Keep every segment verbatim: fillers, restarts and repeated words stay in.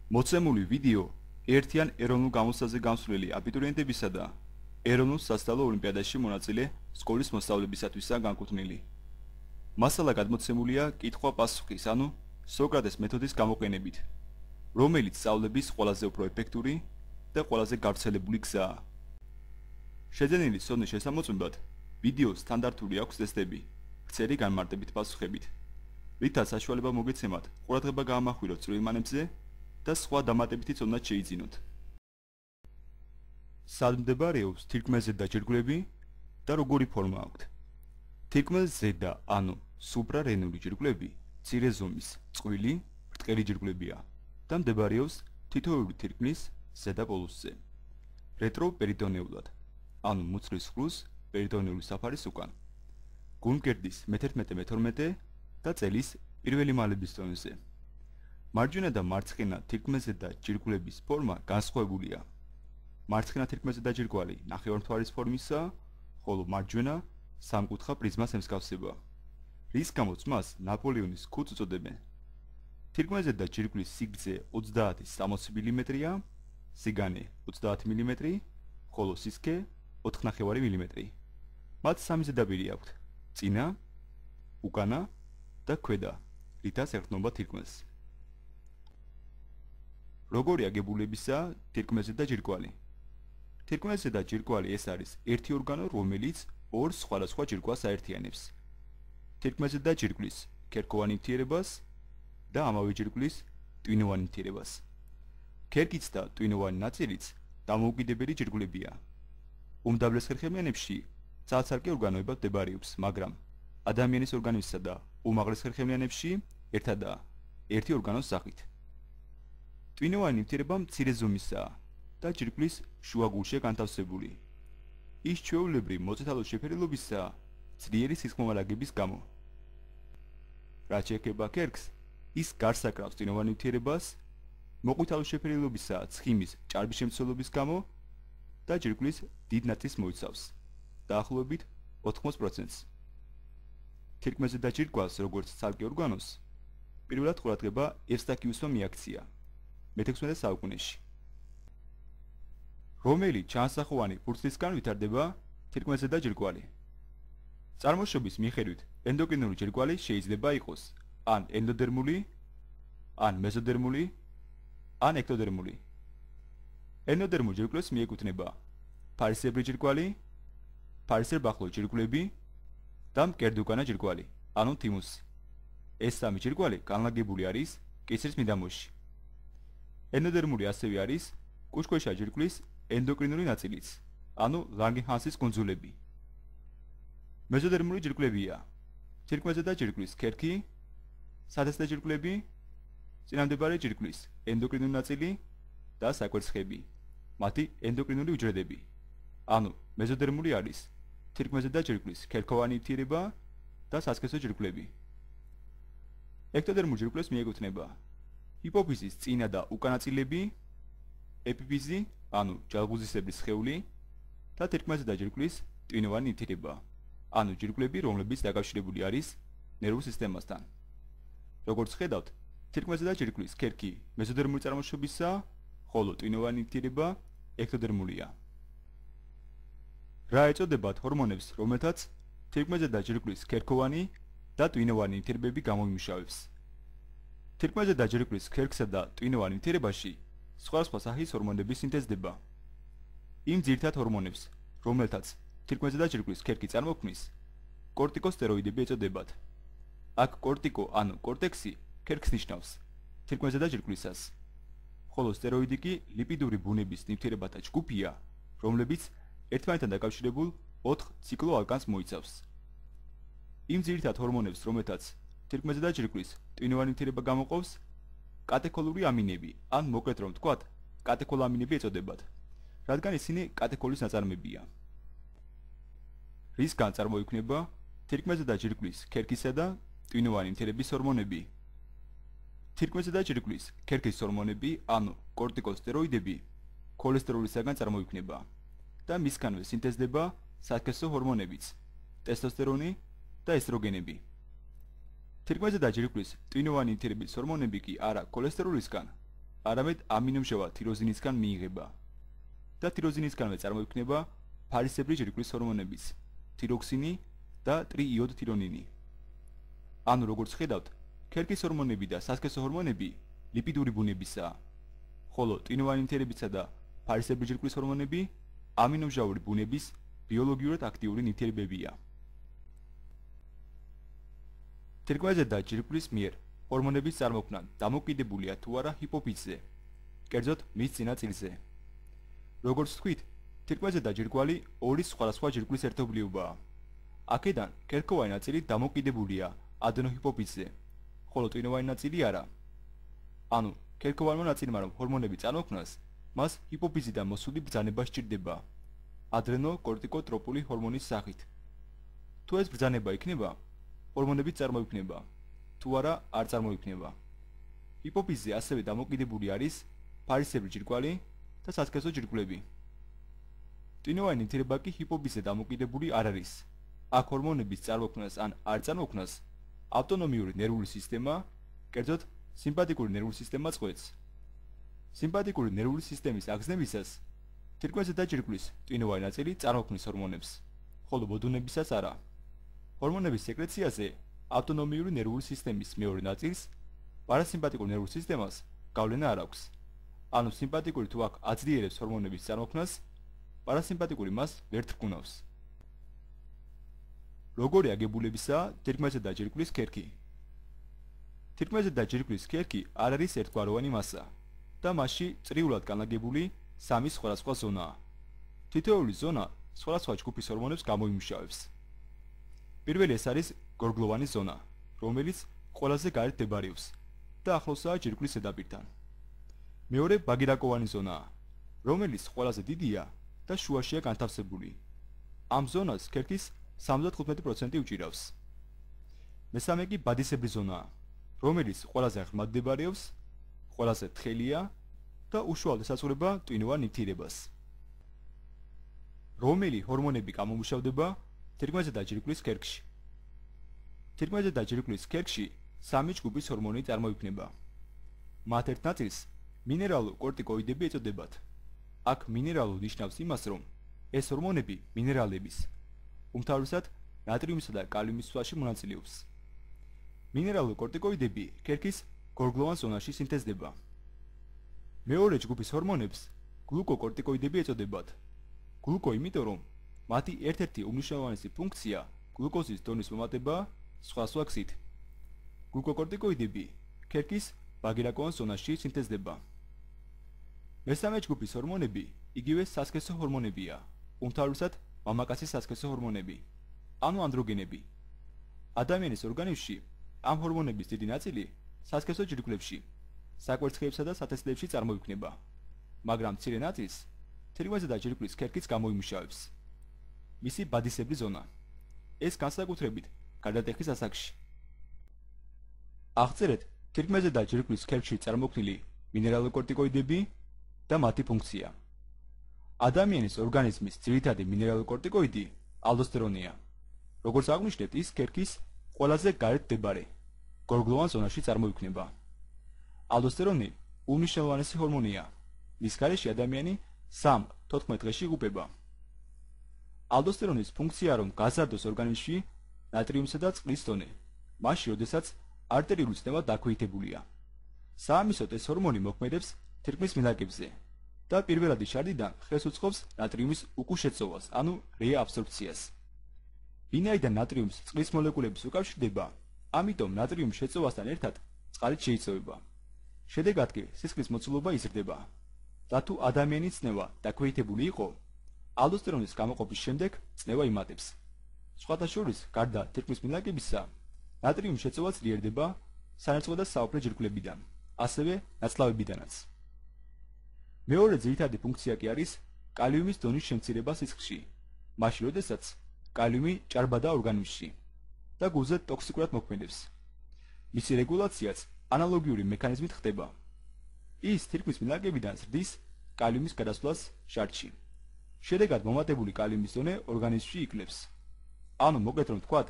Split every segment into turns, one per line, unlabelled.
მოცემული ვიდეო ერთიან ეროვნულ გამოცდაზე გამსვლელი აბიტურიენტებისა და ეროვნულ სასწავლო ოლიმპიადაში მონაწილე სკოლის მოსწავლებისათვისაა განკუთვნილი. მასალა გადმოცემულია კითხვა-პასუხის, ანუ სოკრატეს მეთოდის გამოყენებით, რომელიც სწავლების ყველაზე უფრო ეფექტური და ყველაზე გავრცელებული გზაა. შეძენილი სონის შესამოწმებად ვიდეოს სტანდარტული აქვს ტესტები, ვრცელი განმარტებით პასუხებით, რითაც საშუალება მოგეცემათ ყურადღება გაამახვილოთ წვრილმანებზე და სხვა დამატებითი ცოდნაც შეიძინოთ. სად მდებარეობს თირკმელზე დაჯირგვლები და როგორი ფორმა აქვთ? თირკმელს ზედა, ანუ სუპრარენული ჯირგვლები მცირე ზომის, წყვილი, ბრტყელი ჯირგვლებია და მდებარეობს თითოეული თირკმლის ზედა პოლუსზე. რეტროპერიტონეულად, ანუ მუცლის ხვრუს პერიტონეული საფარის უკან. გულმკერდის მეთერთმეტე მეთორმეტე და წელის პირველი მალების დონეზე. მარჯვენა და მარცხენა თირკმელზე და ჯირგვლების ფორმა განსხვავებულია. მარცხენა თირკმელზე და ჯირგვალი ნახევარმთვარის ფორმისაა, ხოლო მარჯვენა სამკუთხა პრიზმას ემსგავსება, რის გამოც მას ნაპოლეონის ქუდს უწოდებენ. თირკმელზე და ჯირგვლის სიგრძე ოცდაათი სამოცი მილიმეტრია, სიგანე ოცდაათი მილიმეტრი, ხოლო სისქე ოთხ ნახევარი მილიმეტრი. მათ სამი ზედაპირი აქვთ: წინა, უკანა და ქვედა, რითაც ერტყმობა თირკმელს. როგორი აგებულებისაა თირკმელზე და ჯირგვალი? თირკმელზე და ჯირგვალი ეს არის ერთი ორგანო, რომელიც ორ სხვადასხვა ჯირგვას აერთიანებს. თირკმელზე და ჯირგვლის ქერქოვანი ნივთიერებას და ამავე ჯირგვლის ტვინოვანი ნივთიერებას. ქერქიც და ტვინოვანი ნაწილიც დამოუკიდებელი ჯირგვლებია. უმდაბლეს ხერხემლიანებში ცალ-ცალკე ორგანოებად მდებარეობს, მაგრამ ადამიანის ორგანიზმსა და უმაღლეს ხერხემლიანებში ერთადაა, ერთი ორგანოს სახით. ტვინოვანი ნივთიერება მცირე ზომისაა და ჯირგვლის შუაგულშია განთავსებული. ის ჩვეულებრივ მოწითალო შეფერილობისაა ძლიერი სისხლმომარაგების გამო. რაც შეეხება ქერქს, ის გარს აკრავს ტვინოვან ნივთიერებას, მოყვითალო შეფერილობისაა ცხიმის ჭარბი შემცველობის გამო და ჯირგვლის დიდ ნაწილს მოიცავს, დაახლოებით ოთხმოცი პროცენტს. თირკმელზე და ჯირგვალს, როგორც ცალკე ორგანოს, პირველად ყურადღება ევსტაქიუსმა მიაქცია მეთექვსმეტე საუკუნეში. რომელი ჩანასახოვანი ფურცლისგან ვითარდება თირკმელზე და ჯირგვალი? წარმოშობის მიხედვით ენდოკრინული ჯირგვალი შეიძლება იყოს ან ენდოდერმული, ან მეზოდერმული, ან ექტოდერმული. ენდოდერმულ ჯირგვლებს მიეკუთვნება ფარისებრი ჯირგვალი, ფარისებრ-ბახლო ჯირგვლები და მკერდუკანა ჯირგვალი, ანუ თიმუსი. ეს სამი ჯირგვალი განლაგებული არის კისრის მიდამოში. ენდოდერმული ასევე არის კუჭქვეშა ჯირგვლის ენდოკრინული ნაწილიც, ანუ ლანგენჰანსის კუნძულები. მეზოდერმული ჯირგვლებია თირკმელზე და ჯირგვლის ქერქი, სადესტე ჯირგვლები, წინამდებარე ჯირგვლის ენდოკრინული ნაწილი და საკვერცხები, მათი ენდოკრინული უჯრედები. ანუ მეზოდერმული არის თირკმელზე და ჯირგვლის ქერქოვანი ნივთიერება და სასქესო ჯირგვლები. ექტოდერმულ ჯირგვლებს მიეკუთვნება ჰიპოფიზის წინა და უკანა ნაწილები, ეპიფიზი, ანუ ჯალღუზისებრი სხეული და თირკმელზე და ჯირგვლის ტვინოვანი ნივთიერება, ანუ ჯირგვლები, რომლებიც დაკავშირებული არის ნერვულ სისტემასთან. როგორც ხედავთ, თირკმელზე და ჯირგვლის ქერქი მეზოდერმული წარმოშობისაა, ხოლო ტვინოვანი ნივთიერება ექტოდერმულია. რა ეწოდებათ ჰორმონებს, რომელთაც თირკმელზე და ჯირგვლის ქერქოვანი და ტვინოვანი ნივთიერებები გამოიმუშავებს? თირკმელზე და ჯირგვლის ქერქსა და ტვინოვან ნივთიერებაში სხვადასხვა სახის ჰორმონები სინთეზდება. იმ ძირითად ჰორმონებს, რომელთაც თირკმელზე და ჯირგვლის ქერქი წარმოქმნის, კორტიკოსტეროიდები ეწოდებათ. აქ კორტიკო ანუ კორტექსი ქერქს ნიშნავს თირკმელზე და ჯირგვლისას, ხოლო სტეროიდი კი ლიპიდური ბუნების ნივთიერებათა ჯგუფია, რომლებიც ერთმანეთთან დაკავშირებულ ოთხ ციკლოალკანს მოიცავს. იმ ძირითად ჰორმონებს, რომელთაც თირკმელზე და ჯირგვლის ტვინოვანი ნივთიერება გამოყოფს, კატექოლური ამინები, ან მოკლედ რომ ვთქვათ, კატექოლამინები ეწოდებათ, რადგან ისინი კატექოლის ნაწარმებია. რისგან წარმოიქმნება თირკმელზე და ჯირგვლის ქერქისა და ტვინოვანი ნივთიერების ჰორმონები? თირკმელზე და ჯირგვლის ქერქის ჰორმონები, ანუ კორტიკოსტეროიდები, ქოლესტეროლისაგან წარმოიქმნება და მისგანვე სინთეზდება სასქესო ჰორმონებიც, ტესტოსტერონი და ესტროგენები. თირკმელზე და ჯირგვლის ტვინოვანი ნივთიერების ჰორმონები კი არა ქოლესტეროლისგან, არამედ ამინომჟავა თიროზინისგან მიიღება და თიროზინისგანვე წარმოიქმნება ფარისებრი ჯირკვლის ჰორმონების თიროქსინი და ტრიიოდთირონინი. ანუ როგორც ხედავთ, ქერქის ჰორმონები და სასქესო ჰორმონები ლიპიდური ბუნებისაა, ხოლო ტვინოვანი ნივთიერებისა და ფარისებრი ჯირკვლის ჰორმონები ამინომჟავური ბუნების ბიოლოგიურად აქტიური ნივთიერებებია. თირკმელზე და ჯირკვლის მიერ ჰორმონების წარმოქმნა დამოკიდებულია თუ არა ჰიპოფიზზე, კერძოდ მის წინა წილზე. როგორც თქვით, თირკმელზე და ჯირკვალი ორი სხვადასხვა ჯირკვლის ერთობლიობაა. აქედან ქერქოვანი ნაწილი დამოკიდებულია ადენოჰიპოფიზზე, ხოლო ტვინოვანი ნაწილი არა. ანუ ქერქოვანმა ნაწილმა რომ ჰორმონები წარმოქმნას, მას ჰიპოფიზიდან მოსული ბრძანება სჭირდება ადრენოკორტიკოტროპული ჰორმონის სახით. თუ ეს ბრძანება იქნება, ჰორმონები წარმოიქმნება, თუ არა არ წარმოიქმნება. ჰიპოფიზზე ასევე დამოკიდებული არის ფარისებრი ჯირკვალი და სასქესო ჯირკვლები. ტვინოვანი ნივთიერება კი ჰიპოფიზზე დამოკიდებული არ არის. აქ ჰორმონების წარმოქმნას ან არ წარმოქმნას ავტონომიური ნერვული სისტემა, კერძოდ სიმპათიკური ნერვული სისტემა წყვეტს. სიმპათიკური ნერვული სისტემის აგზნებისას თირკმელზე და ჯირკვლის ტვინოვანი ნაწილი წარმოქმნის ჰორმონებს, ხოლო ბოდუნებისას არა. ჰორმონების სეკრეციაზე ავტონომიური ნერვული სისტემის მეორე ნაწილს, პარასიმპათიკურ ნერვულ სისტემას გავლენა არ აქვს. ანუ სიმპათიკური თუ აქ აძლიერებს ჰორმონების წარმოქმნას, პარასიმპათიკური მას ვერ თრგუნავს. როგორი აგებულებისაა თირკმელზე და ჯირკვლის ქერქი? თირკმელზე და ჯირკვლის ქერქი არ არის ერთგვაროვანი მასა და მასში წრიულად განლაგებული სამი სხვადასხვა ზონაა. თითოეული ზონა სხვადასხვა ჯგუფის ჰორმონებს გამოიმუშავებს. პირველი ეს არის გორგლოვანი ზონა, რომელიც ყველაზე გარეთ მდებარეობს და ახლოსაა ჯირკვლის ზედაპირთან. მეორე ბაგირაკოვანი ზონაა, რომელიც ყველაზე დიდია და შუაშია განთავსებული. ამ ზონას ქერქის სამოცდათხუთმეტი პროცენტი უჭირავს. მესამე კი ბადისებრი ზონაა, რომელიც ყველაზე ღრმად მდებარეობს, ყველაზე თხელია და უშუალოდ ესაზღვრება ტვინოვან ნივთიერებას. რომელი ჰორმონები გამომუშავდება თირკმელზე და ჯირკვლის ქერქში? თირკმელზე და ჯირკვლის ქერქში სამი ჯგუფის ჰორმონი წარმოიქმნება. მათ ერთ ნაწილს მინერალურ კორტიკოიდები ეწოდებათ. აქ მინერალურ ნიშნავს იმას, რომ ეს ჰორმონები მინერალების, უმთავრესად ნატრიუმისა და კალიუმის სვლაში მონაწილეობს. მინერალურ კორტიკოიდები ქერქის გორგლოვან ზონაში სინთეზდება. მეორე ჯგუფის ჰორმონებს გლუკოკორტიკოიდები ეწოდებათ. გლუკო იმიტომ, რომ მათი ერთ-ერთი უმნიშვნელოვანესი ფუნქცია გლუკოზის დონის მომატებაა სხვადასხვა გზით. გლუკოკორტიკოიდები ქერქის ბაგირაკოვან ზონაში სინთეზდება. მესამე ჯგუფის ჰორმონები იგივე სასქესო ჰორმონებია, უმთავრესად მამაკაცის სასქესო ჰორმონები, ანუ ანდროგენები. ადამიანის ორგანიზმში ამ ჰორმონების დიდი ნაწილი სასქესო ჯირკვლებში, საკვერცხლებსა და სათესლებში წარმოიქმნება, მაგრამ მცირე ნაწილს თირკმელზე და ჯირკვლის ქერქიც გამოიმუშავებს. მისი ბადისებრი ზონა. ეს განსაკუთრებით გარდატეხის ასაკში. აღწერეთ თირკმელზე და ჯირკვლის ქერქში წარმოქმნილი მინერალურ კორტიკოიდები და მათი ფუნქცია. ადამიანის ორგანიზმის ძირითადი მინერალურ კორტიკოიდი ალდოსტერონია. როგორც აღვნიშნეთ, ის ქერქის ყველაზე გარეთ მდებარე გორგლოვან ზონაში წარმოიქმნება. ალდოსტერონი უმნიშვნელოვანესი ჰორმონია. მის გარეშე ადამიანი სამ-თოთხმეტ დღეში იღუპება. ალდოსტერონის ფუნქცია რომ გაზარდოს ორგანიზმში ნატრიუმისა და წყლის დონე, მაშინ, როდესაც არტერიული წნევა დაქვეითებულია. საამისოდ ეს ჰორმონი მოქმედებს თირკმლის მილაკებზე და პირველადი შარდიდან ხელს უწყობს ნატრიუმის უკუშეწოვას, ანუ რეაბსორბციას. ვინაიდან ნატრიუმს წყლის მოლეკულების უკავშირდება, ამიტომ ნატრიუმის შეწოვასთან ერთად წყალიც შეიწოვება. შედეგად კი სისხლის მოცულობა იზრდება. და თუ ადამიანის წნევა დაქვეითებული იყო, ალდოსტერონის გამოყოფის შემდეგ წნევა იმატებს. სხვათა შორის, გარდა თირკმლის მილაკებისა, ნატრიუმის შეწოვა ძლიერდება სანერწყვე და საუფლე ჯირკვლებიდან, ასევე ნაწლავებიდანაც. მეორე ძირითადი ფუნქცია კი არის კალიუმის დონის შემცირება სისხლში, მაშინ როდესაც კალიუმი ჭარბადაა ორგანიზმში და გულზე ტოქსიკურად მოქმედებს. მისი რეგულაციაც ანალოგიური მექანიზმით ხდება. ის თირკმლის მილაკებიდან ზრდის კალიუმის გადასვლას შარდში. შედეგად მომატებული კალიუმის დონე ორგანიზმში იკლებს. ანუ მოკლედ რომ ვთქვათ,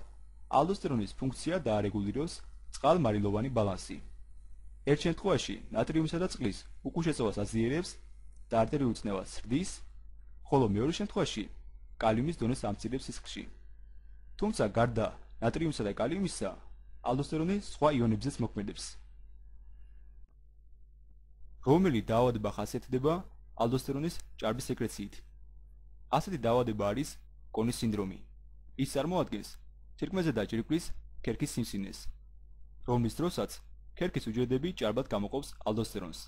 ალდოსტერონის ფუნქცია დაარეგულიროს წყალ-მარილოვანი ბალანსი. ერთ შემთხვევაში ნატრიუმისა და წყლის უკუშეწოვას აზიერებს და არტერიულ წნევას სრდის, ხოლო მეორე შემთხვევაში კალიუმის დონეს ამცირებს სისხლში. თუმცა გარდა ნატრიუმისა და კალიუმისა, ალდოსტერონი სხვა იონებზეც მოქმედებს. რომელი დაავადება ხასიათდება ალდოსტერონის ჭარბის სეკრეციით? ასეთი დაავადება არის კონის სინდრომი. ის წარმოადგენს თირკმელზე დაჭირკვის ქერქის სიმსივნეს, რომლის დროსაც ქერქის უჯრედები ჭარბად გამოყოფს ალდოსტერონს.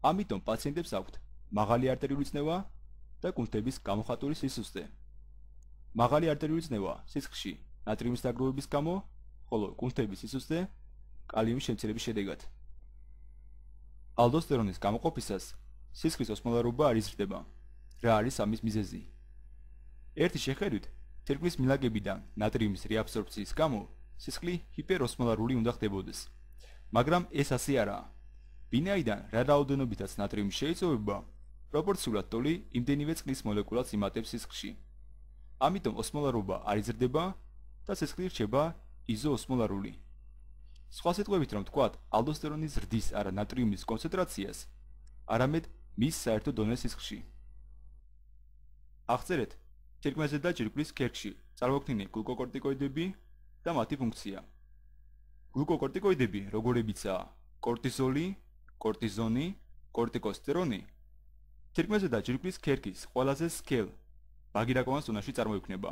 ამიტომ პაციენტებს აქვთ მაღალი არტერიული წნევა და კუნთების გამოხატული სისუსტე. მაღალი არტერიული წნევა სისხლში ნატრიუმის დაგროვების გამო, ხოლო კუნთების სისუსტე კალიუმის შემცირების შედეგად. ალდოსტერონის გამოყოფისას სისხლის ოსმოლარობა არ იზრდება. რა არის ამის მიზეზი? ერთი შეხედვით, თირკმლის მილაგებიდან ნატრიუმის რეაბსორბციის გამო სისხლი ჰიპეროსმოლარული უნდა ხდებოდეს, მაგრამ ეს ასე არაა. ვინაიდან რა რაოდენობითაც ნატრიუმი შეიწოვება, პროპორციულად ტოლი იმდენივე წყლის მოლეკულას იმატებს სისხლში. ამიტომ ოსმოლარობა არ იზრდება და სისხლი რჩება იზოოსმოლარული. სხვა სიტყვებით რომ ვთქვათ, ალდოსტერონის ზრდის არა ნატრიუმის კონცენტრაციას, არამედ მის საერთო დონეს სისხლში. აღწერეთ თირკმელზე და ჯირკვლის ქერქში წარმოქმნილი გლუკოკორტიკოიდები და მათი ფუნქცია. გლუკოკორტიკოიდები როგორებიცაა კორტიზოლი, კორტიზონი, კორტიკოსტერონი, თირკმელზე და ჯირკვლის ქერქის ყველაზე სქელ ბაგირაკოვან ზონაში წარმოიქმნება.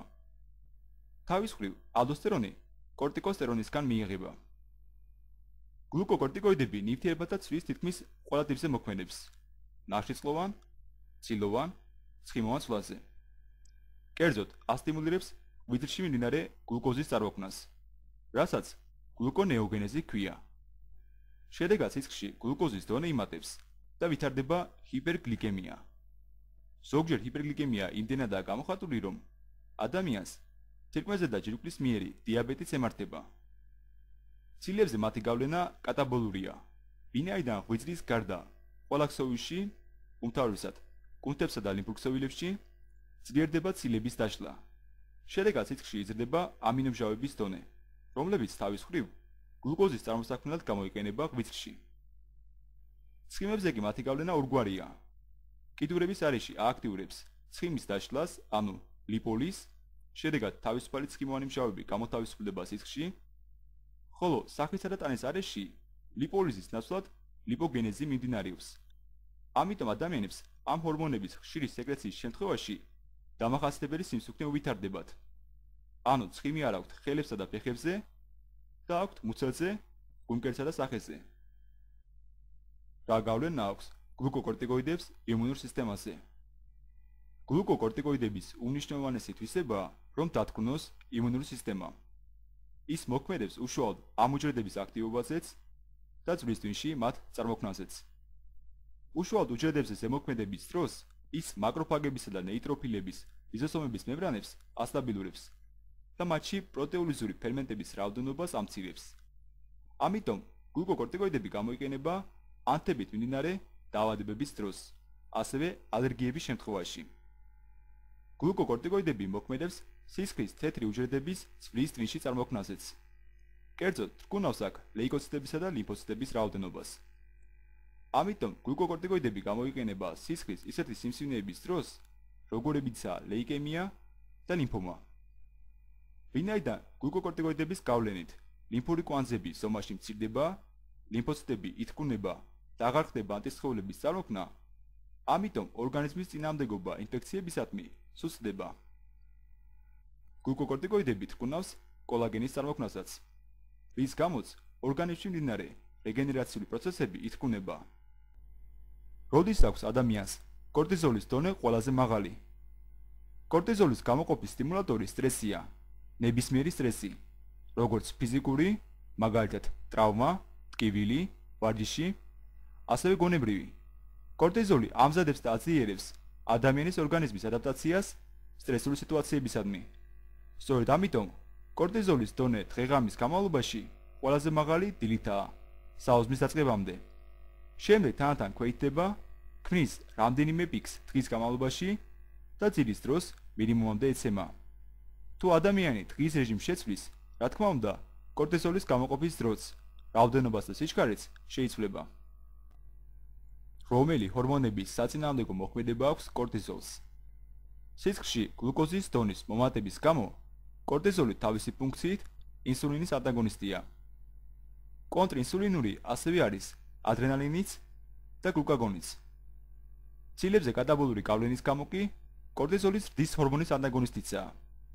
თავის მხრივ, ალდოსტერონი კორტიკოსტერონისგან მიიღება. გლუკოკორტიკოიდები ნივთიერებათა ცვლის თითქმის ყველა ტიპზე მოქმედებს: ნახშირწყლოვან, ცილოვან, ცხიმოვან ცვლაზე. კერძოდ, ასტიმულირებს ღვიძლში მიმდინარე გლუკოზის წარმოქმნას, რასაც გლუკონეოგენეზი ჰქვია. შედეგად სისხლში გლუკოზის დონე იმატებს და ვითარდება ჰიპერგლიკემია. ზოგჯერ ჰიპერგლიკემია იმდენადაა გამოხატული, რომ ადამიანს თირკმელზე და ჯირკვლის მიერი დიაბეტიც ემართება. ცილებზე მათი გავლენა კატაბოლურია, ვინაიდან ღვიძლის გარდა ყველა ქსოვილში, უმთავრესად კუნთებსა და ლიმფოქსოვილებში, ძლიერდება ცილების დაშლა. შედეგად სისხლში იზრდება ამინომჟავების დონე, რომლებიც თავის მხრივ გლუკოზის წარმოსაქმნელად გამოიყენება ღვიძლში. ცხიმებზე კი მათი გავლენა ორგვარია. კიდურების არეში ააქტიურებს ცხიმის დაშლას, ანუ ლიპოლიზს, შედეგად თავისუფალი ცხიმოვანი მჟავები გამოთავისუფლდება სისხლში, ხოლო სახისა და ტანის არეში ლიპოლიზის ნაცვლად ლიპოგენეზი მიმდინარეობს. ამიტომ ადამიანებს ამ ჰორმონების ხშირი სეკრეციის შემთხვევაში დამახასიათებელი სიმსუქნე უვითარდებათ. ანუ ცხიმი არ აქვთ ხელებსა და ფეხებზე და აქვთ მუცელზე, გულმკერდსა და სახეზე. რა გავლენა აქვს გლუკოკორტიკოიდებს იმუნურ სისტემაზე? გლუკოკორტიკოიდების უმნიშვნელოვანესი თვისებაა, რომ დათქმნოს იმუნური სისტემა. ის მოქმედებს უშუალოდ ამ უჯრედების აქტივობაზეც და წვლის ტვინში მათ წარმოქმნაზეც. უშუალოდ უჯრედებზე ზემოქმედების დროს ის მაკროფაგებისა და ნეიტროფილების ლიზოსომების მემბრანებს ასტაბილურებს და მათში პროტეოლიზური ფერმენტების რაოდენობას ამცირებს. ამიტომ გლუკოკორტიკოიდები გამოიყენება ანთებით მიმდინარე დაავადებების დროს, ასევე ალერგიების შემთხვევაში. გლუკოკორტიკოიდები მოქმედებს სისხლის თეთრი უჯრედების წვლის ტვინში წარმოქმნაზეც. კერძოდ, თრგუნავს აქ ლეიკოციტებისა და ლიმფოციტების რაოდენობას. ამიტომ გლუკოკორტიკოიდები გამოიყენება სისხლის ისეთი სიმსივნეების დროს, როგორებიცაა ლეიკემია და ლიმფომა. ვინაიდან გლუკოკორტიკოიდების გავლენით ლიმფური კვანძები ზომაში მცირდება, ლიმფოციტები ითქუნება და აღარ ხდება ანტისხეულების წარმოქმნა, ამიტომ ორგანიზმის წინააღმდეგობა ინფექციებისადმი სუსტდება. გლუკოკორტიკოიდები თქუნავს კოლაგენის წარმოქმნასაც, რის გამოც ორგანიზმში მიმდინარე რეგენერაციული პროცესები ითქუნება. როდის აქვს ადამიანს კორტიზოლის დონე ყველაზე მაღალი? კორტიზოლის გამოყოფის სტიმულატორი სტრესია, ნებისმიერი სტრესი, როგორც ფიზიკური, მაგალითად ტრავმა, ტკივილი, ვარჯიში, ასევე გონებრივი. კორტიზოლი ამზადებს და აწიერებს ადამიანის ორგანიზმის ადაპტაციას სტრესული სიტუაციებისადმი. სწორედ ამიტომ კორტიზოლის დონე დღე-ღამის განმავლობაში ყველაზე მაღალი დილითაა, საოცრის დაწყებამდე. შემდეგ თანდათან ქვეითდება, ქმნის რამდენიმე პიკს დღის განმავლობაში და ძილის დროს მინიმუმამდე ეცემა. თუ ადამიანი დღის რეჟიმს შეცვლის, რა თქმა უნდა, კორტიზოლის გამოყოფის დროც, რაოდენობას და სიჩქარეც შეიცვლება. რომელი ჰორმონების საწინააღმდეგო მოქმედება აქვს კორტიზოლს? სისხლში გლუკოზის დონის მომატების გამო კორტიზოლი თავისი ფუნქციით ინსულინის ანტაგონისტია. კონტრინსულინური ასევე არის ადრენალინიც და გლუკაგონიც. ცილებზე კატაბოლური გავლენის გამო კი კორტიზოლის ზრდის ჰორმონის ანტაგონისტიცაა,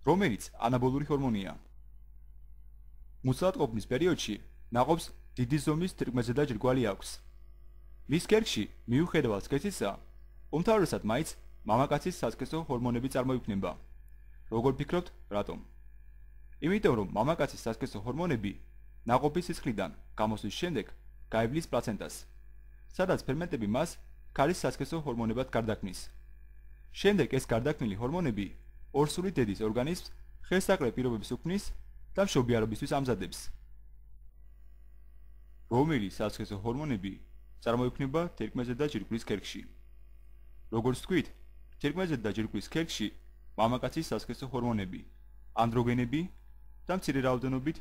რომელიც ანაბოლური ჰორმონია. მუცლადყოფნის პერიოდში ნაყოფს დიდი ზომის თირკმელზედა ჯირკვალი აქვს. მის ქერქში მიუხედავად სქესისა, უმთავრესად მაინც მამაკაცის სასქესო ჰორმონები წარმოიქმნება. როგორ ფიქრობთ, რატომ? იმიტომ რომ მამაკაცის სასქესო ჰორმონები ნაყოფის სისხლიდან გამოსვლის შემდეგ გაივლის პლაცენტას, სადაც ფერმენტები მას ქალის სასქესო ჰორმონებად გარდაქმნის. შემდეგ ეს გარდაქმნილი ჰორმონები ორსული დედის ორგანიზმს ხელსაყრელ პირობებს უქმნის და მშობიარობისთვის ამზადებს. რომელი სასქესო ჰორმონები წარმოიქმნება თერკმელზედა ჯირკვლის ქერქში? როგორც ვთქვით, თერკმელზედა ჯირკვლის ქერქში მამაკაცის სასქესო ჰორმონები, ანდროგენები და მცირე რაოდენობით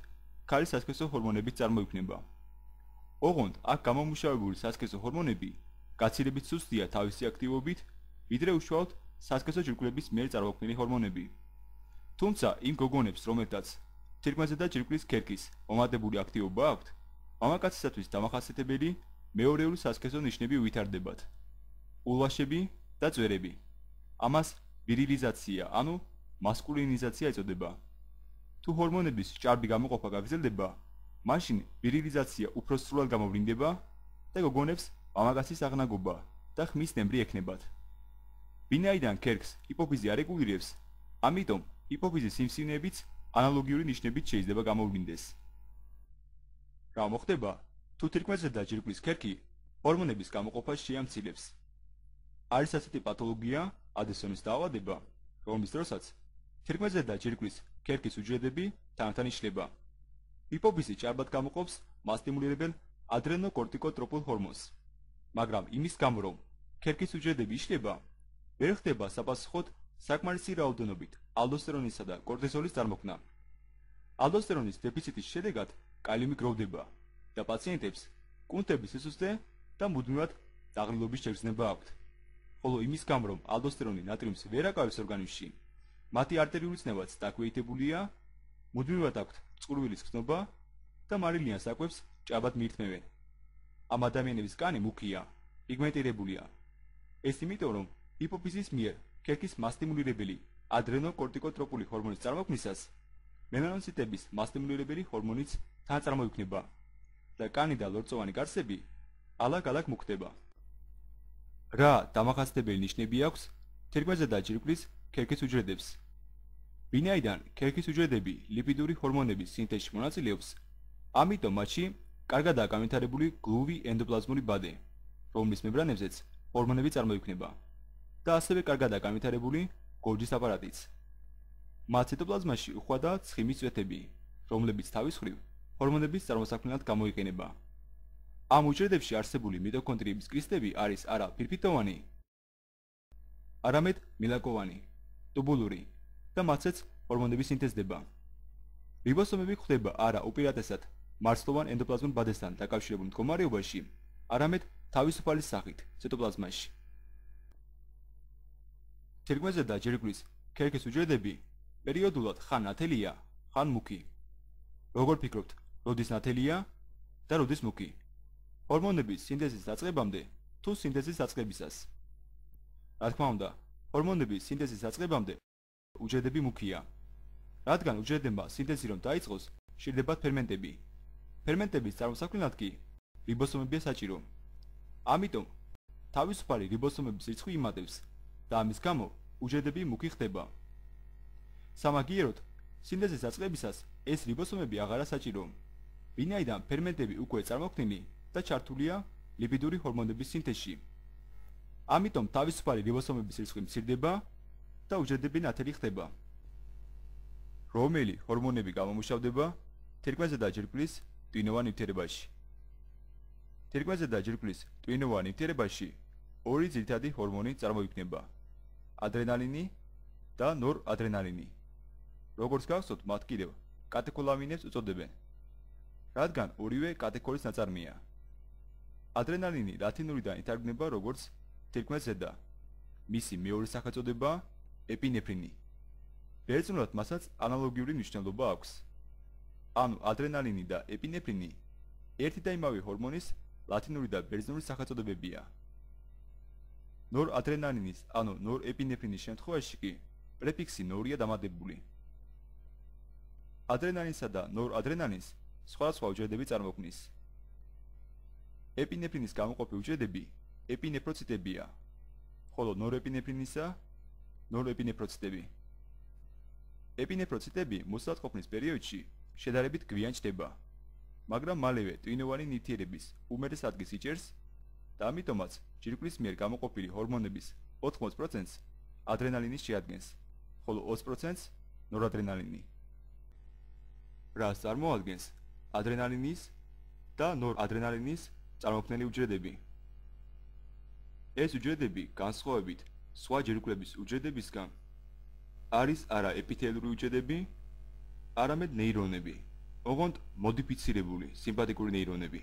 ქალის სასქესო ჰორმონებით წარმოიქმნება. ოღონდ აქ გამომუშავებული სასქესო ჰორმონები გაცილებით სუსტია თავისი აქტივობით, ვიდრე უშუალოდ სასქესო ჯირკვლების მიერ წარმოქმნილი ჰორმონები. თუმცა იმ გოგონებს, რომელთაც თირკმელზედა ჯირკვლის ქერქის მომატებული აქტივობა აქვთ, მამაკაცისათვის დამახასიათებელი მეორეული სასქესო ნიშნები ვითარდებათ: ულვაშები და წვერები. ამას ვირილიზაცია, ანუ მასკულინიზაცია ეწოდება. თუ ჰორმონების ჭარბი გამოყოფა გაგრძელდება, მაშინ ვირილიზაცია უფრო სრულად გამოვლინდება და გოგონებს მამაკაცის აღნაგობა და ხმის ნემრი ექნებათ. ვინაიდან ქერქს ჰიპოფიზი არ რეგულირებს, ამიტომ ჰიპოფიზის სიმსივნეებიც ანალოგიური ნიშნებით შეიძლება გამოვლინდეს. რა მოხდება, თუ თირკმელზედა ჯირკვლის ქერქი ჰორმონების გამოყოფას შეამცირებს? არის ასეთი პათოლოგია, ადესონის დაავადება, რომლის დროსაც თირკმელზედა ჯირკვლის ქერქის უჯრედები თანთან იშლება. ჰიპოფიზი ჭარბად გამოყოფს მასტიმულირებელ ადრენოკორტიკოტროპულ ჰორმონს, მაგრამ იმის გამო, რომ ქერქის უჯრედები იშლება, ვერ ხდება საპასუხოდ საკმარისი რაოდენობით ალდოსტერონისა და კორტიზოლის წარმოქმნა. ალდოსტერონის დეფიციტის შედეგად კალიუმი გროვდება და პაციენტებს კუნთების სისუსტე და მუდმივად დაღლილობის შეგრძნება აქვთ. ხოლო იმის გამო, რომ ალდოსტერონი ნატრიუმს ვერ აკავებს ორგანიზმში, მათი არტერიული წნევაც დაქვეითებულია, მუდმივად აქვთ წყურვილის გრძნობა და მარილიან საკვებს ჭაბად მიირთმევენ. ამ ადამიანების კანი მუქია, პიგმენტირებულია. ეს იმიტომ, რომ ჰიპოფიზის მიერ ქერქის მასტიმულირებელი ადრენოკორტიკოტროპული ჰორმონის წარმოქმნისას მელანოციტების მასტიმულირებელი ჰორმონიც თან წარმოიქმნება და კანი და ლორწოვანი გარსები ალაგ-ალაგ მუქდება. რა დამახასიათებელი ნიშნები აქვს თირკმელზედა ჯირკვლის ქერქის უჯრედებს? ვინაიდან ქერქის უჯრედები ლიპიდური ჰორმონების სინთეზში მონაწილეობს, ამიტომ მათში კარგადაა განვითარებული გლუვი ენდოპლაზმური ბადე, რომლის მემბრანებზეც ჰორმონები წარმოიქმნება და ასევე კარგადაა განვითარებული გოლჯის აპარატიც. მათ ციტოპლაზმაში უხვადაა ცხიმის წვეთები, რომლებიც თავის მხრივ ჰორმონების წარმოსაქმნელად გამოიყენება. ამ უჯრედებში არსებული მიტოქონდრიების კრისტები არის არა ფირფიტოვანი, არამედ მილაკოვანი, ტუბულური და მათზეც ჰორმონები სინთეზდება. რიბოსომები გვხვდება არა უპირატესად მარცვლოვან ენდოპლაზმურ ბადესთან დაკავშირებულ მდგომარეობაში, არამედ თავისუფალი სახით ციტოპლაზმაში. თირკმელზედა ჯირკვლის ქერქის უჯრედები პერიოდულად ხან ნათელია, ხან მუქი. როგორ ფიქრობთ, როდის ნათელია და როდის მუქი? ჰორმონების სინთეზის დაწყებამდე თუ სინთეზის დაწყებისას? რა თქმა უნდა, ჰორმონების სინთეზის დაწყებამდე უჯრედები მუქია. რადგან უჯრედებმა სინთეზი რომ დაიწყოს, შრდებათ ფერმენტები. ფერმენტების წარმოსაქმნელად კი რიბოსომებია საჭირო. ამიტომ თავისუფალი რიბოსომების რიცხვი იმატებს და ამის გამო უჯრედები მუქი ხდება. სამაგიეროდ, სინთეზის დაწყებისას ეს რიბოსომები აღარა საჭირო, ვინაიდან ფერმენტები უკვე წარმოქმნილი და ჩართულია ლიპიდური ჰორმონების სინთეზში. ამიტომ თავისუფალი რიბოსომების რიცხვი მცირდება და უჯრედები ნათელი ხდება. რომელი ჰორმონები გამომუშავდება თირკმელზედა ჯირკვლის ტვინოვან ნივთიერებაში? თირკმელზედა ჯირკვლის ტვინოვან ნივთიერებაში ორი ძირითადი ჰორმონი წარმოიქმნება: ადრენალინი და ნორადრენალინი. როგორც გახსოვთ, მათ კიდევ კატეხოლამინებს უწოდებენ. რადგან ორივე კატეგორიის ნაწარმია. ადრენალინი ლათინურიდან ითარგმნება როგორც თირკმლის ზედა. მისი მეორე სახელწოდებაა ეპინეფრინი. ბერძნულად მასაც ანალოგიური მნიშვნელობა აქვს. ანუ ადრენალინი და ეპინეფრინი ერთი და იმავე ჰორმონის ლათინური და ბერძნული სახელწოდებებია. ნორადრენალინის ანუ ნორეპინეფრინის შემთხვევაში კი პრეფიქსი ნორია დამატებული. ადრენალინსა და ნორადრენალინს სხვადასხვა უჯრედები წარმოქმნის. ეპინეფრინის გამოყოფი უჯრედები ეპინეფროციტებია, ხოლო ნორეპინეფრინისა ნორეპინეფროციტები. ეპინეფროციტები მოსატყოფნის პერიოდში შედარებით გვიან ჩდება, მაგრამ მალევე ტვინოვანი ნივთიერების უმეტეს ადგილს იჭერს და ამიტომაც ჯირკვლის მიერ გამოყოფილი ჰორმონების ოთხმოც პროცენტს ადრენალინის შეადგენს, ხოლო ოცი პროცენტს ნორადრენალინი. რას წარმოადგენს ადრენალინის და ნორადრენალინის წარმოქმნელი უჯრედები? ეს უჯრედები განსხვავებით სხვა ჯირკვლების უჯრედებისგან არის არა ეპითელური უჯრედები, არამედ ნეირონები, ოღონდ მოდიფიცირებული სიმპათიკური ნეირონები.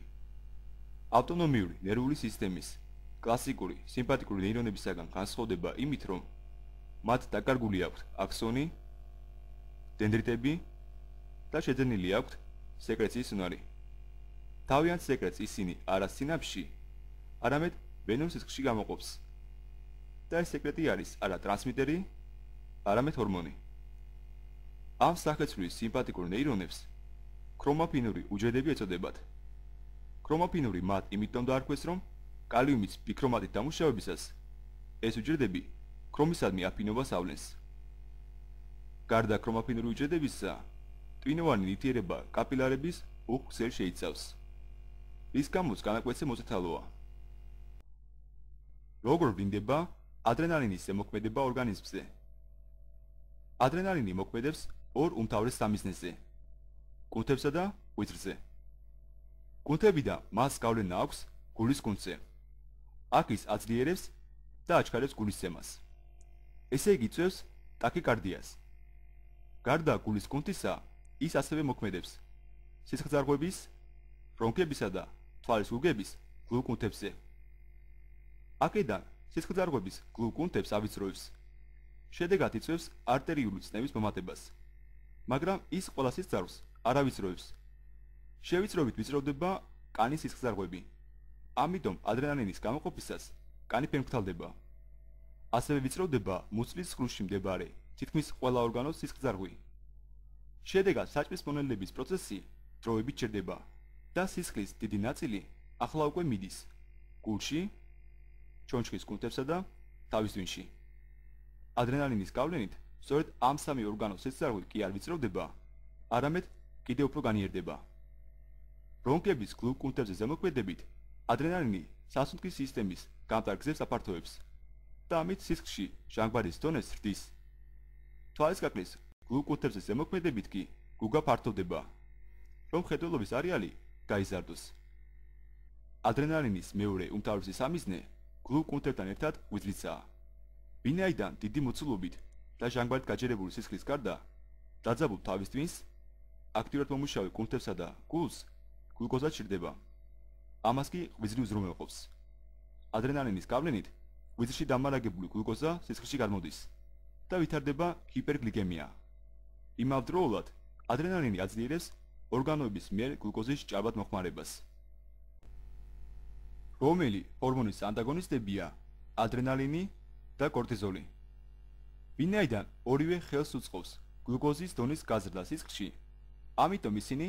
ავტონომიური ნერვული სისტემის კლასიკური სიმპათიკური ნეირონებისაგან განსხვავდება იმით, რომ მათ დაკარგული აქვთ აქსონი, დენდრიტები და შეძენილი აქვთ სეკრეციის უნარი. თავიანთ სეკრეტს ისინი არა სინაფსში, არამედ ვენურ სისხლში გამოყოფს. და ეს სეკრეტი არის არა ტრანსმიტერი, არამედ ჰორმონი. ამ სახეცვლის სიმპათიკურ ნეირონებს ქრომაფინური უჯრედები ეწოდებათ. ქრომაფინური მათ იმიტომ დაარქვეს, რომ კალიუმის ბიქრომატით დამუშავებისას ეს უჯრედები ქრომისადმი აფინობას ავლენს. გარდა ქრომაფინური უჯრედებისა, ტვინოვანი ნივთიერება კაპილარების უხვ ქსელს შეიცავს, რის გამოც განაკვეთზე მოწითალოა. როგორ ვლინდება ადრენალინის ზემოქმედება ორგანიზმზე? ადრენალინი მოქმედებს ორ უმთავრეს სამიზნეზე: კუნთებსა და ღვიძლზე. კუნთებიდან მას გავლენა აქვს გულის კუნთზე. აქ ის აძლიერებს და აჩქარებს გულისცემას. ესე იგი იწვევს ტაქიკარდიას. გარდა გულის კუნთისა, ის ასევე მოქმედებს სისხლძარღვების, ბრონქებისა და თვალის გუგების გლუკუნთებზე. აქედან სისხლძარღვების გლუკუნთებს ავიწროებს. შედეგად იწვევს არტერიული წნევის მომატებას, მაგრამ ის ყველა სისხლძარღვს არ ავიწროებს. შევიწროვით ვიწროვდება კანის სისხლძარღვები. ამიტომ ადრენალინის გამოყოფისას კანი ფერმკრთალდება. ასევე ვიწროვდება მუცლის სხრუში მდებარე თითქმის ყველა ორგანოს სისხლძარღვი. შედეგად საჭმის მონელების პროცესი დროებით ჩერდება და სისხლის დიდი ნაწილი ახლა უკვე მიდის გულში, ჩონჩხის კუნთებსა და თავის ტვინში. ადრენალინის გავლენით სწორედ ამ სამი ორგანოს სისხლძარღვი კი არ ვიწროვდება, არამედ კიდევ უფრო განიერდება. ბრონქების გლუკუნთებზე ზემოქმედებით ადრენალინი სასუნთქის სისტემის გამტარ გზებს აფართოებს და ამით სისხლში ჟანგბადის დონეს ზრდის. თვალის კაკლის გლუკუნთებზე ზემოქმედებით კი გუგა ფართოვდება, რომ მხედველობის არეალი გაიზარდოს. ადრენალინის მეორე უმთავრესი სამიზნე გლუკუნთებთან ერთად ღვიძლიცაა. ვინაიდან დიდი მოცულობით და ჟანგბადით გაჯერებული სისხლის გარდა დაძაბულ თავის ტვინს, აქტიურად მომუშავე კუნთებსა და გულს გლუკოზა ჩრდება. ამას კი ღვიძლი უზრუნველყოფს. ადრენალინის გავლენით ღვიძლში დამარაგებული გლუკოზა სისხლში გამოდის და ვითარდება ჰიპერგლიკემია. იმავდროულად ადრენალინი აძლიერებს ორგანოების მიერ გლუკოზის ჭარბად მოხმარებას. რომელი ჰორმონის ანტაგონისტებია ადრენალინი და კორტიზოლი? ვინაიდან ორივე ხელს უწყობს გლუკოზის დონის გაზრდა სისხლში, ამიტომ ისინი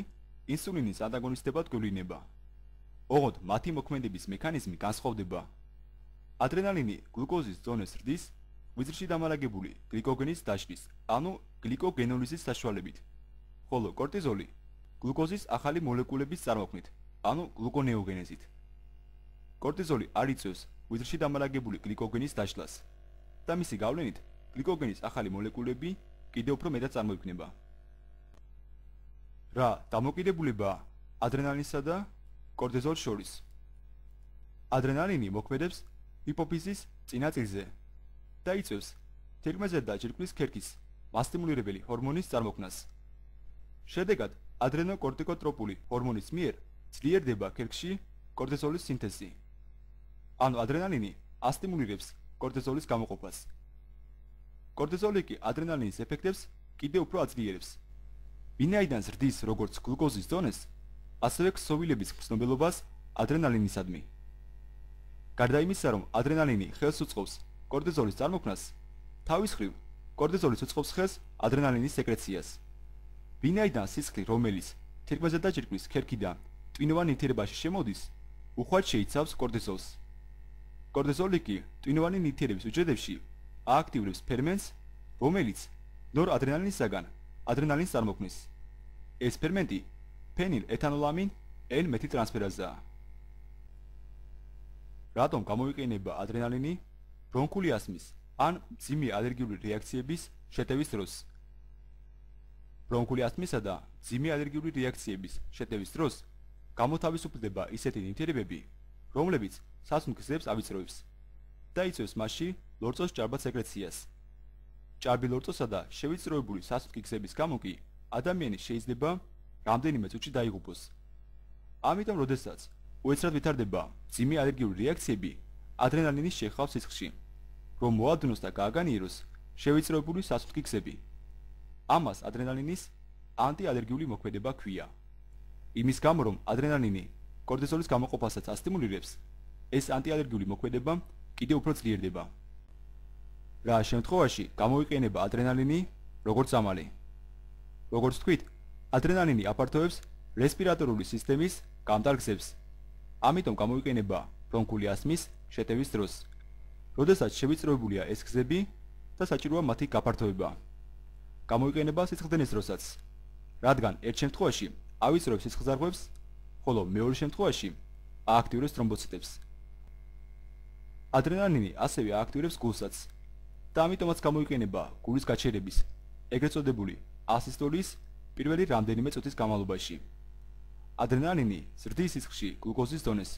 ინსულინის ანტაგონისტებად გვევლინება. ოღონდ მათი მოქმედების მექანიზმი განსხვავდება. ადრენალინი გლუკოზის დონეს ზრდის ღვიძლში დამარაგებული გლიკოგენის დაშლის, ანუ გლიკოგენოლიზის საშუალებით, ხოლო კორტიზოლი გლუკოზის ახალი მოლეკულების წარმოქმნით, ანუ გლუკონეოგენეზით. კორტიზოლი არ იწვევს ღვიძლში დამარაგებული გლიკოგენის დაშლას და მისი გავლენით გლიკოგენის ახალი მოლეკულები კიდევ უფრო მეტად წარმოიქმნება. რა დამოკიდებულებაა ადრენალინსა და კორტიზოლს შორის? ადრენალინი მოქმედებს ჰიპოფიზის წინაწილზე და იწვევს თირკმელზე და ჯირკვლის ქერქის მასტიმულირებელი ჰორმონის წარმოქმნას. შედეგად ადრენოკორტიკოტროპული ჰორმონის მიერ ძლიერდება ქერქში კორტიზოლის სინთეზი. ანუ ადრენალინი ასტიმულირებს კორტიზოლის გამოყოფას. კორტიზოლი კი ადრენალინის ეფექტებს კიდევ უფრო აძლიერებს. ვინაიდან ზრდის როგორც გლუკოზის დონეს, ასევე ქსოვილების გრძნობელობას ადრენალინისადმი. გარდა იმისა, რომ ადრენალინი ხელს უწყობს კორტიზოლის წარმოქმნას, თავის მხრივ კორტიზოლიც უწყობს ხელს ადრენალინის სეკრეციას. ვინაიდან სისხლი, რომელიც თირკმელზე დაჭირკვის ქერქიდან ტვინოვან ნივთიერებაში შემოდის, უხვად შეიცავს კორტიზოლს. კორტიზოლი კი ტვინოვანი ნივთიერების უჯრედებში ააქტიურებს ფერმენტს, რომელიც ნორადრენალინისაგან ადრენალინს წარმოქმნის. ეს ფერმენტი ფენილ-ეთანოламინ N მეთილტრანსფერაზაა. რატომ გამოიყენება ადრენალინი ბრონქული ასმის ან მძიმე ალერგიული რეაქციების შეტევის დროს? ბრონქული ასმისა და მძიმე ალერგიული რეაქციების შეტევის დროს გამოთავისუფლდება ისეთი ნივთიერებები, რომლებიც სასუნთქ გზებს ავიწროებს და იწვევს მასში ლორწოს ჭარბად სეკრეციას. ჭარბი ლორწოსა და შევიწროებული სასუნთქი გზების გამო კი ადამიანი შეიძლება რამდენიმე წუთში დაიღუპოს. ამიტომ, როდესაც უეცრად ვითარდება მძიმე ალერგიული რეაქციები, ადრენალინის შეხავს სისხლში, რომ მოადნოს და გააგანიეროს შევიწროებული სასუნთქი გზები. ამას ადრენალინის ანტიალერგიული მოქმედება ჰქვია. იმის გამო, რომ ადრენალინი კორტიზოლის გამოყოფასაც ასტიმულირებს, ეს ანტიალერგიული მოქმედება კიდევ უფრო ძლიერდება. რა შემთხვევაში გამოიყენება ადრენალინი როგორც ამალი? როგორც თქვით, ადრენალინი აფართოებს რესპირატორული სისტემის გამტარ გზებს. ამიტომ გამოიყენება ბრონქული ასმის შეტევის დროს, როდესაც შევიწროებულია ეს გზები და საჭიროა მათი გაფართოება. გამოიყენება სისხლდენის დროსაც, რადგან ერთ შემთხვევაში ავიწროებს სისხლძარღვებს, ხოლო მეორე შემთხვევაში ააქტიურებს თრომბოციტებს. ადრენალინი ასევე ააქტიურებს გულსაც და ამიტომაც გამოიყენება გულის გაჩერების, ეგრეთ წოდებული ასისტოლის პირველი რამდენიმე წუთის განმავლობაში. ადრენალინი ზრდის სისხლში გლუკოზის დონეს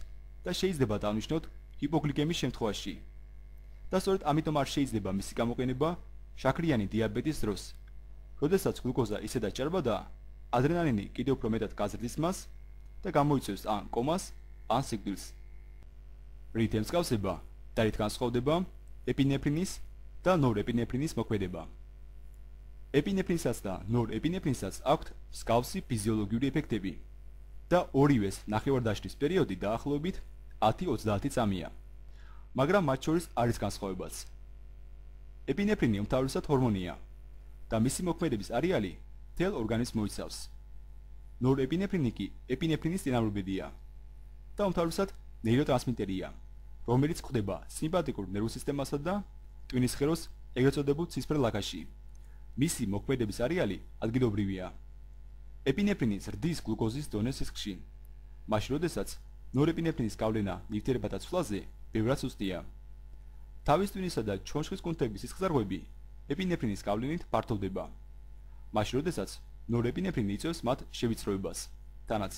და შეიძლება დავნიშნოთ ჰიპოგლიკემიის შემთხვევაში. და სწორედ ამიტომ არ შეიძლება მისი გამოყენება შაქრიანი დიაბეტის დროს, როდესაც გლუკოზა ისედაც ჭარბადაა, ადრენალინი კიდევ უფრო მეტად გაზრდის მას და გამოიწვევს ან კომას, ან სიკვდილს. რით ემსგავსება და რით განსხვავდება ეპინეფრინის და ნორეპინეფრინის მოქმედება? ეპინეფრინსაც და ნორეპინეფრინსაც აქვთ მსგავსი ფიზიოლოგიური ეფექტები და ორივეს ნახევარდაშლის პერიოდი დაახლოებით ათი ოცდაათი წამია, მაგრამ მათ შორის არის განსხვავებაც. ეპინეფრინი უმთავრესად ჰორმონია და მისი მოქმედების არეალი მთელ ორგანიზმს მოიცავს. ნორეპინეფრინი კი ეპინეფრინის წინამორბედია და უმთავრესად ნეიროტრანსმიტერია, რომელიც გვხვდება სიმპათიკურ ნერვულ სისტემასა და ტვინის სხეროს ეგრეთ წოდებულ ცისფერ ლაქაში. მისი მოქმედების არეალი ადგილობრივია. ეპინეფრინი ზრდის გლუკოზის დონეს სისხლში, მაშინ როდესაც ნორეპინეფრინის გავლენა ნივთიერებათა ცვლაზე ბევრად სუსტია. თავის ტვინისა და ჩონჩხის კუნთების სისხლძარღვები ეპინეფრინის გავლენით ფართოვდება, მაშინ როდესაც ნორეპინეფრინი იწვევს მათ შევიწროებას, თანაც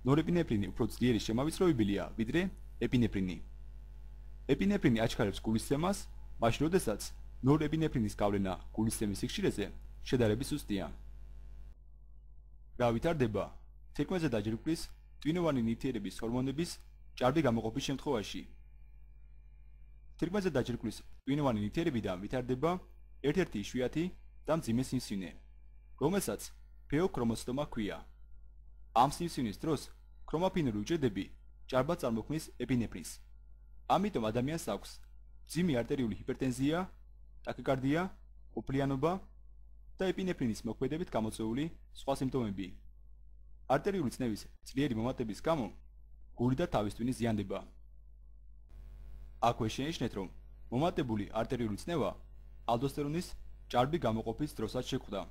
ნორეპინეფრინი უფრო ძლიერი შემავიწროებელია ვიდრე ეპინეფრინი. ეპინეფრინი აჩქარებს გულისცემას, მაშინ როდესაც ნორეპინეფრინის გავლენა გულისცემის სიხშირეზე შედარებით სუსტია. რა ვითარდება თირკმელზე დაჯირკვლის ტვინოვანი ნივთიერების ჰორმონების ჭარბი გამოყოფის შემთხვევაში? თირკმელზე დაჯირკვლის ტვინოვანი ნივთიერებიდან ვითარდება ერთ-ერთი იშვიათი და მძიმე სიმსივნე, რომელსაც ფეოქრომოციტომა ჰქვია. ამ სიმსივნის დროს ქრომაფინური უჯრედები ჭარბად წარმოქმნის ეპინეფრინს. ამიტომ ადამიანს აქვს მძიმე არტერიული ჰიპერტენზია, ტაკიკარდია, ოფლიანობა და ეპინეფრინის მოქმედებით გამოწვეული სხვა სიმპტომები. არტერიული წნევის ძლიერი მომატების გამო გული და თავის ტვინი ზიანდება. აქვე შენიშნეთ, რომ მომატებული არტერიული წნევა ალდოსტერონის ჭარბი გამოყოფის დროსაც შეხვდა.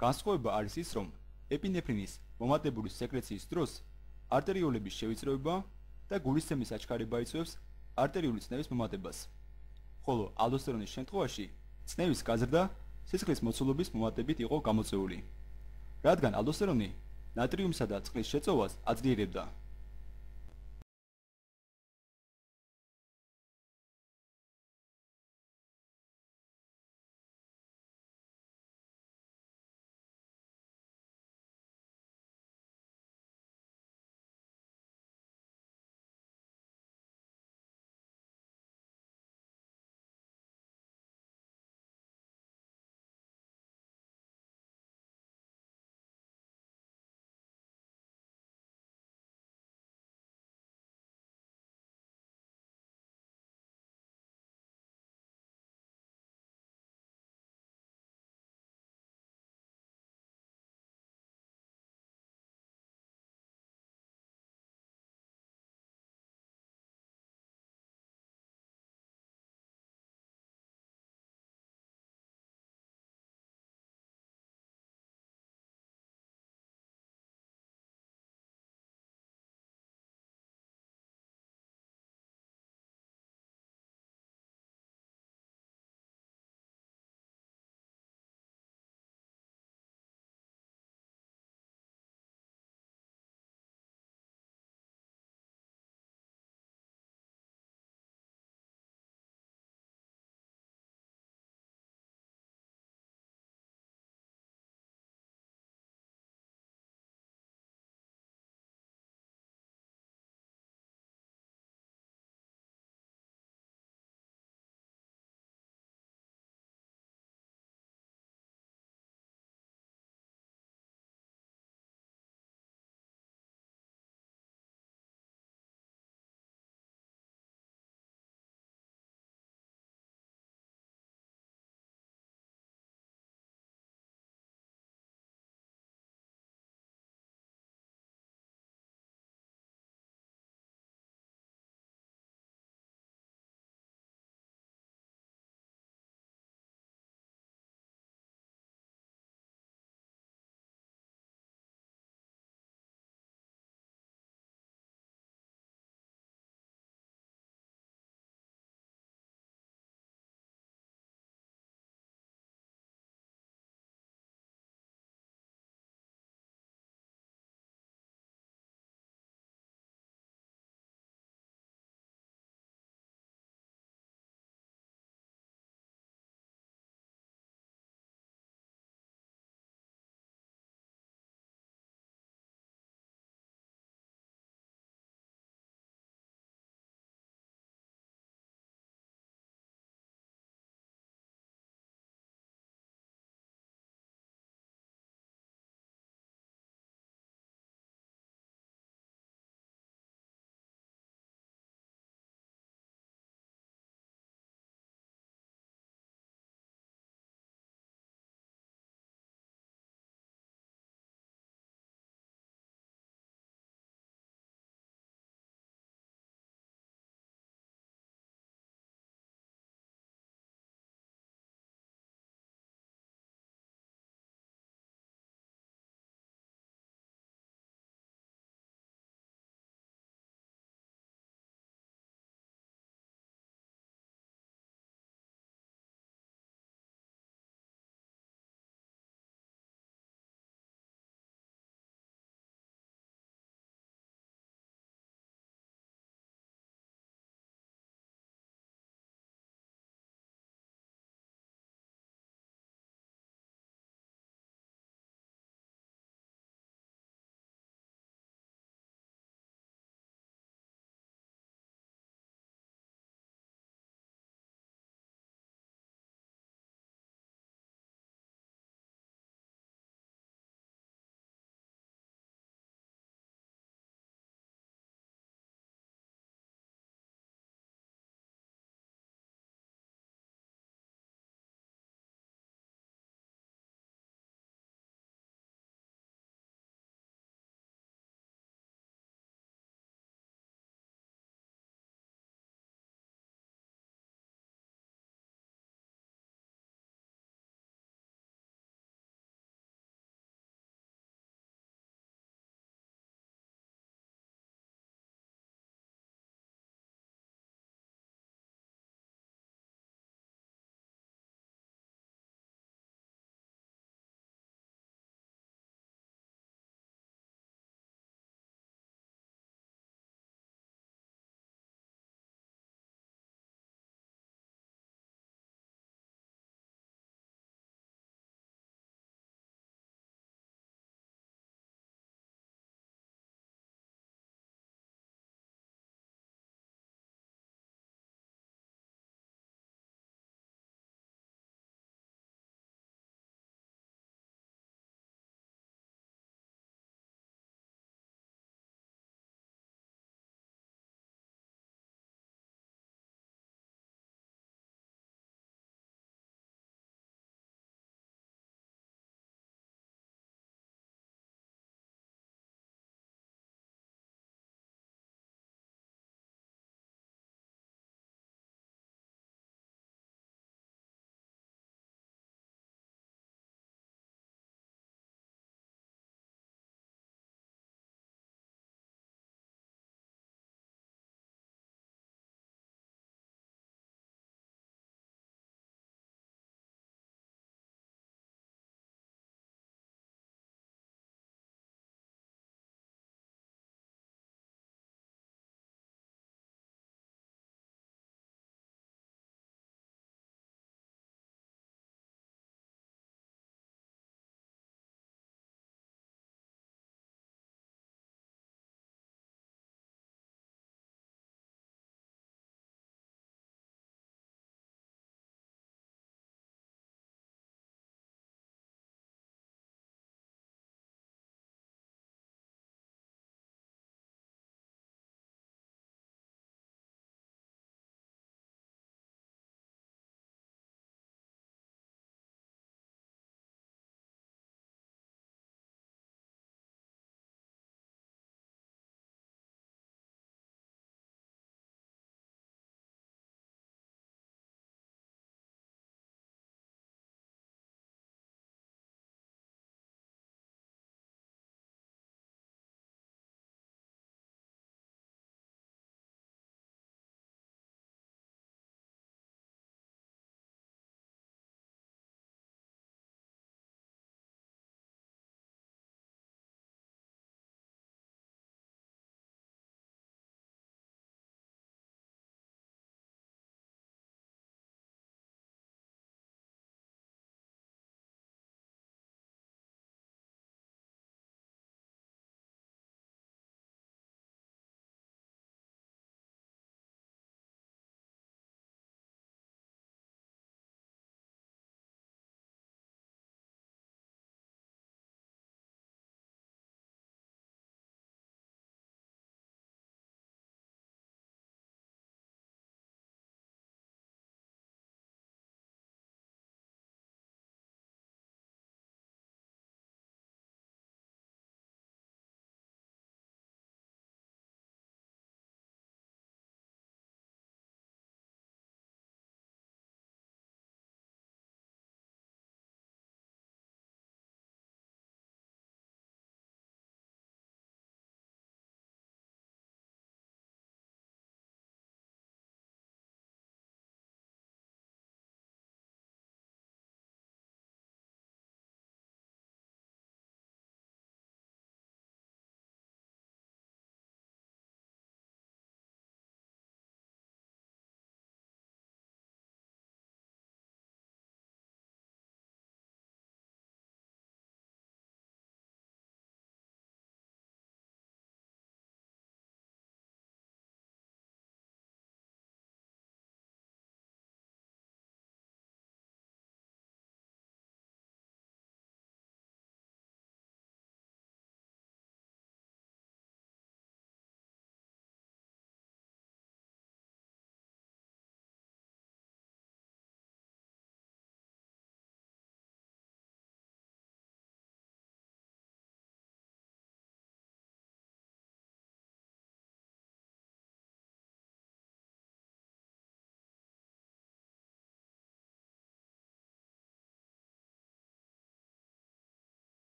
განსხვავება არის ის, რომ ეპინეფრინის მომატებული სეკრეციის დროს არტერიულების შევიწროება და გულისცემის აჩქარება იწვევს არტერიული წნევის მომატებას, ხოლო ალდოსტერონის შემთხვევაში წნევის გაზრდა სისხლის მოცულობის მომატებით იყო გამოწვეული, რადგან ალდოსტერონი ნატრიუმსა და წყლის შეწოვას აძლიერებდა.